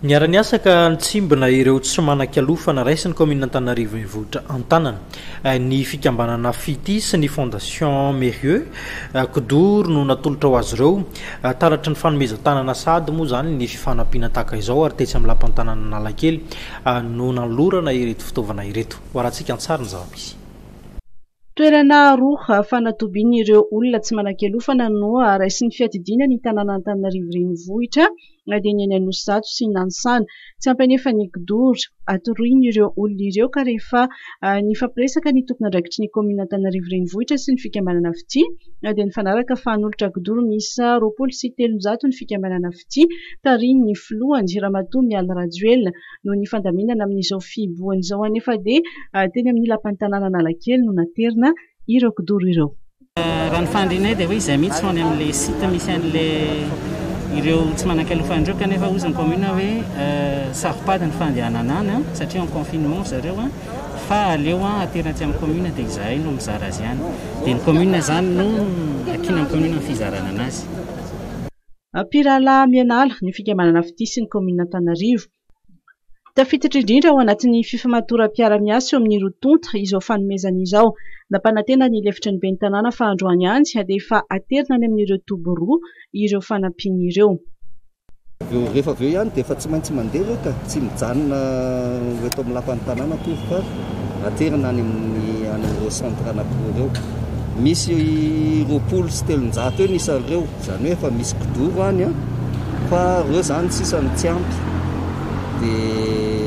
Niara-niasa ka nitsimbina ireo tsy manan-kialofana raisin'ny kaominina Antananarivo Renivohitra an-tanana ny fikambanana Fitia sy ny Fondation Mérieux. Kidoro no natolotra ho azy ireo. Taratry ny fanomezan-tanana sahady moa izany ny fifanampiana tahaka izao ary tetsy amin'ny lapan'ny tanàna Analakely no nanolorana ireto fitaovana ireto. Ho arahantsika an-tsary ny zava-misy. Toerana roa fanatobian'ireo olona tsy manan-kialofana no raisin'ny fiadidiana ny tanàn'Antananarivo Renivohitra dia ny eny Anosizato sy Nanisana. Tsy ampy anefa ny kidoro atoroin'ireo olona ireo ka rehefa nifampiresaka ny tompon'andraikitry ny kaominina Antananarivo Renivohitra sy ny fikambanana Fitia dia nifanaraka fa hanolotra kidoro miisa 320 ny fikambanana Fitia tarihin'ny filohany Ramatoa Mialy Rajoelina. Noho ny fandaminana amin'izao fihibohana izao anefa dia teny amin'ny lapan'ny tanàna Analakely no naterina ireo kidoro ireo. Raha ny fanirianay dia hoe izay mihitsy no any amin'ilay site misy an'ilay ireo tsy manan-kialofana ireo kanefa hozy ny commune hoe saro-pady ny fandehanana any satria en confinement ry zareo fa aleo aterina aty amin'ny commune dia izahay no mizara azy any. Dia ny commune izany no ankina amin'ny commune ny fizarana anazy. Mpirahalahy mianala ny fikambanana Fitia sy ny kaominina Antananarivo. Tafiditra indrindra ao anatin'ny fifamatoram-piara-miasa eo amin'ny roa tonta izao fanomezana izao. Nampanantena ny lefitry ny ben'ny tanàna fa androany ihany dia efa aterina any amin'ireo toby roa ireo fanampiana ireo. Rehefa avy eo ihany dia efa tsy maintsy mandeha ireo ka, tsy mijanona ho eto amin'ny lapan'ny tanàna akory fa aterina any amin'ny any amin'ireo centre anankiroa ireo. Misy 320 eo ny isan'ireo. Izany hoe efa misy kidoro any an, fa ireo izany sisa no tsy ampy. Dia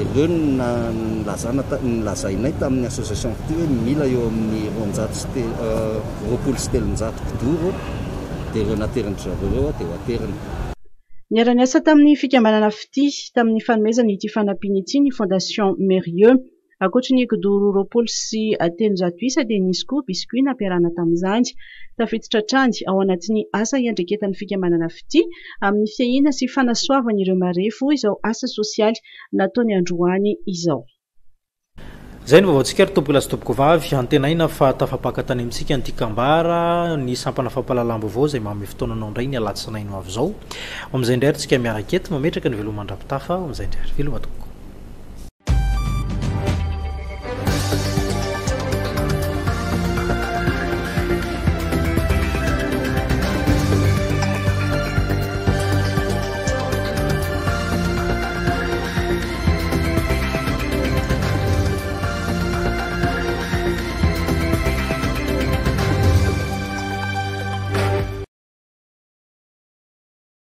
ireo no nilazana, nolazainay tamin'ny association fitia hoe mila eo amin'ny roanjato sy te-, 320 kidoro, dia ireo naterin-dry zareo ireo dia ho aterina. Niara-niasa tamin'ny fikambanana Fitia tamin'ny fanomezana ity fanampiana ity ny Fondation Mérieux. Ankoatry ny kidoro 320 isa dia nisy koa biscuit nampiarahana tamin'izany. Tafiditra hatrany ao anatin'ny asa iandraiketan'ny fikambanana Fitia amin'ny fiahiana sy fanasoavana ireo marefo izao asa sosialy nataony androany izao. Izay ny vaovaontsika ry tompokolahy sy tompokovavy. Antenaina fa tafapaka tany amintsika ny tian-kambara, ny sampana fampahalalam-baovao izay manome fotoana anao indray ny alatsinainy ho avy izao. Ho amin'izay indray ary tsika miaraka eto, mametraka ny veloma mandra-pitafa, ho amin'izay indray ary. Veloma tompoko.